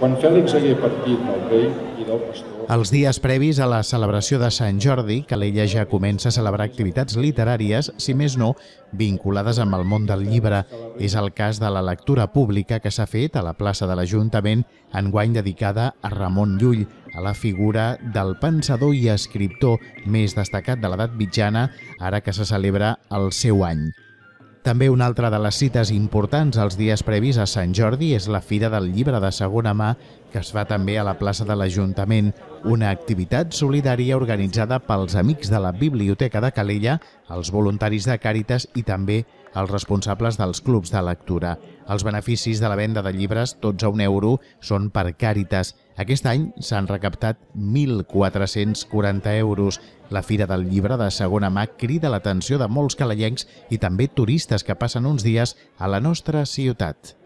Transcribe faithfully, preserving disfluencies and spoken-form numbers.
Quan Fèlix hagué partit del rei i del pastor... Els dies previs a la celebració de Sant Jordi, Calella ja comença a celebrar activitats literàries, si més no, vinculades amb el món del llibre. És el cas de la lectura pública que s'ha fet a la plaça de l'Ajuntament, enguany dedicada a Ramon Llull, a la figura del pensador i escriptor més destacat de l'edat mitjana, ara que se celebra el seu any. També una altra de les cites importants als dies previs a Sant Jordi és la Fira del Llibre de Segona Mà, que es fa també a la plaça de l'Ajuntament, una activitat solidària organitzada pels amics de la Biblioteca de Calella, els voluntaris de Càritas i també els responsables dels clubs de lectura. Els beneficis de la venda de llibres, tots a un euro, són per Càritas. Aquest any s'han recaptat mil quatre-cents quaranta euros. La Fira del Llibre de Segona Mà crida l'atenció de molts calellencs i també turistes que passen uns dies a la nostra ciutat.